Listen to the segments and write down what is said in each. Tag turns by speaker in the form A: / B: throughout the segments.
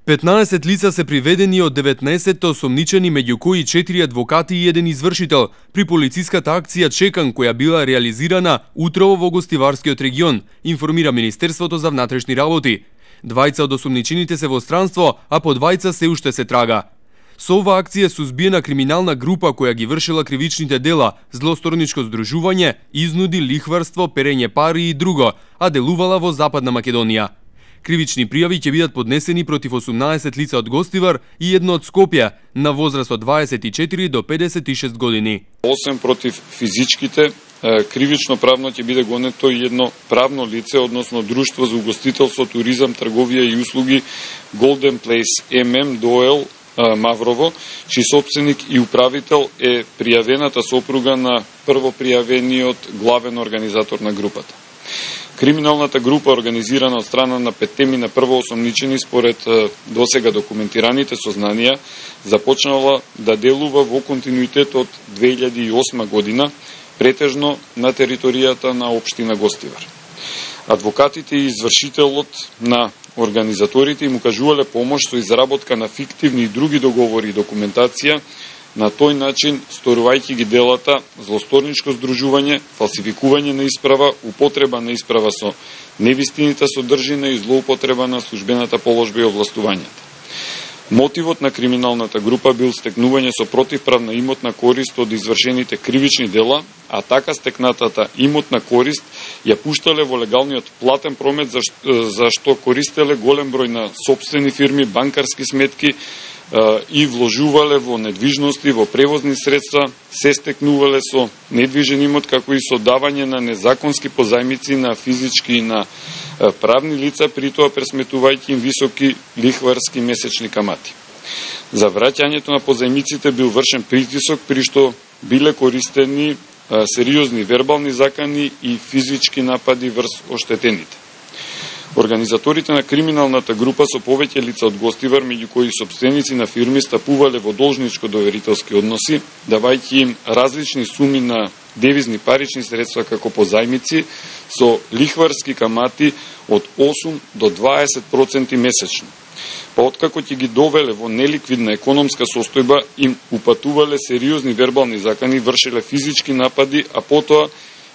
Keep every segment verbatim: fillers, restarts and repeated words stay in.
A: петнаесет лица се приведени од деветнаесет осомничени, меѓу кои четири адвокати и еден извршител, при полициската акција Чекан, која била реализирана утрово во гостиварскиот регион, информира Министерството за внатрешни работи. Двајца од осомничените се во странство, а по двајца се уште се трага. Со ова акција сузбиена криминална група која ги вршила кривичните дела, злосторничко здружување, изнуди, лихварство, перење пари и друго, а делувала во Западна Македонија. Кривични пријави ќе бидат поднесени против осумнаесет лица од Гостивар и едно од Скопје, на возраст од дваесет и четири до педесет и шест години.
B: Осем против физичките, кривично правно ќе биде гонето и едно правно лице, односно Друштво за угостителство, туризам, трговија и услуги Golden Place ем ем Доел Маврово, чиј собственик и управител е пријавената сопруга на првопријавениот главен организатор на групата. Криминалната група, организирана од страна на петтемина првоосомничени според досега документираните сознанија, започнала да делува во континуитет од две илјади и осма година, претежно на територијата на општина Гостивар. Адвокатите и извршителот на организаторите им укажувале помош со изработка на фиктивни и други договори и документација, на тој начин сторувајќи ги делата злосторничко здружување, фалсификување на исправа, употреба на исправа со невистинита содржина и злоупотреба на службената положба и овластувањата. Мотивот на криминалната група бил стекнување со противправна имотна корист од извршените кривични дела, а така стекнатата имотна корист ја пуштале во легалниот платен промет за, за што користеле голем број на сопствени фирми, банкарски сметки и вложувале во недвижности, во превозни средства, се стекнувале со недвижен имот, како и со давање на незаконски позајмици на физички и на правни лица, при тоа пресметувајќи им високи лихварски месечни камати. За враќањето на позајмиците бил вршен притисок, при што биле користени сериозни вербални закани и физички напади врз оштетените. Организаторите на криминалната група со повеќе лица од Гостивар, меѓу кои сопственици на фирми, стапувале во должничко-доверителски односи, давајќи им различни суми на девизни парични средства како позајмици со лихварски камати од осум до дваесет проценти месечно. Па откако ќе ги довеле во неликвидна економска состојба, им упатувале сериозни вербални закани, вршеле физички напади, а потоа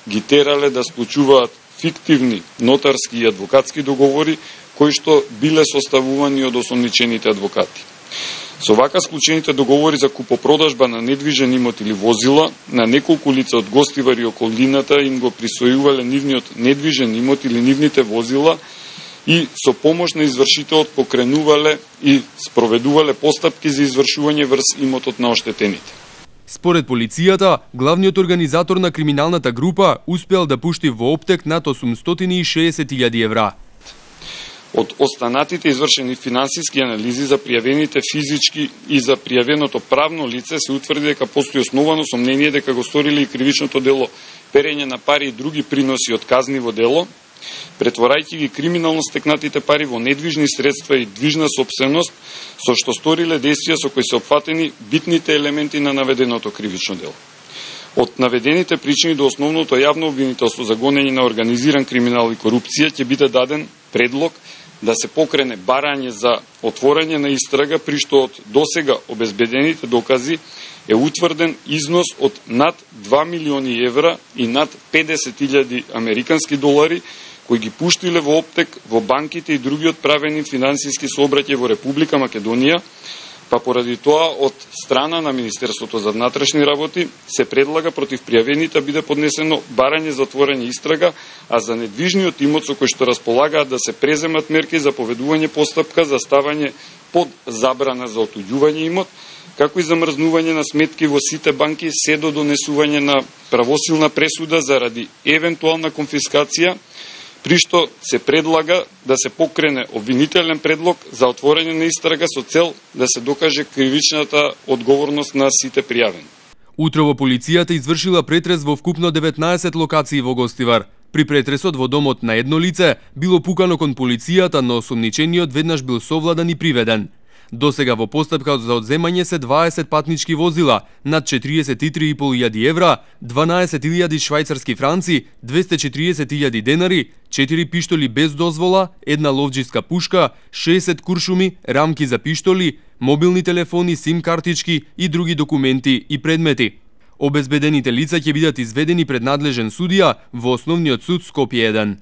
B: ги терале да склучуваат фиктивни нотарски и адвокатски договори, кои што биле составувани од осомничените адвокати. Со вака склучените договори за купопродажба на недвижен имот или возила, на неколку лица од Гостивар и околината им го присвојувале нивниот недвижен имот или нивните возила и со помош на извршителот покренувале и спроведувале постапки за извршување врз имотот на оштетените.
A: Според полицијата, главниот организатор на криминалната група успеал да пушти во оптек над осумстотини и шеесет илјади евра.
B: Од останатите извршени финансиски анализи за пријавените физички и за пријавеното правно лице се утврди дека постои основано сомнение дека го сториле и кривичното дело перење на пари и други приноси од казниво дело, претворајќи ги криминално стекнатите пари во недвижни средства и движна сопственост, со што сториле действија со кои се опфатени битните елементи на наведеното кривично дело. Од наведените причини до основното јавно обвинителство за гонење на организиран криминал и корупција ќе биде даден предлог да се покрене барање за отворање на истрага, при што од досега обезбедените докази е утврден износ од над два милиони евра и над педесет илјади американски долари, кои ги пуштиле во оптек во банките и другиот правени финансиски сообраќај во Република Македонија, па поради тоа од страна на Министерството за внатрешни работи се предлага против пријавените биде поднесено барање за отворање истрага, а за недвижниот имот со кој што располагаат да се преземат мерки за поведување постапка за ставање под забрана за отуѓување имот, како и замрзнување на сметки во сите банки се до донесување на правосилна пресуда заради евентуална конфискација, при што се предлага да се покрене обвинителен предлог за отворање на истрага со цел да се докаже кривичната одговорност на сите пријавени.
A: Утрово полицијата извршила претрес во вкупно деветнаесет локации во Гостивар. При претресот во домот на едно лице било пукано кон полицијата, но осомничениот веднаш бил совладан и приведен. Досега во постапка за одземање се дваесет патнички возила, над четириесет и три и пол илјади евра, дванаесет илјади швајцарски франци, двесте и четириесет илјади денари, четири пиштоли без дозвола, една ловџиска пушка, шеесет куршуми, рамки за пиштоли, мобилни телефони, сим картички и други документи и предмети. Обезбедените лица ќе бидат изведени пред надлежен судија во Основниот суд Скопје еден.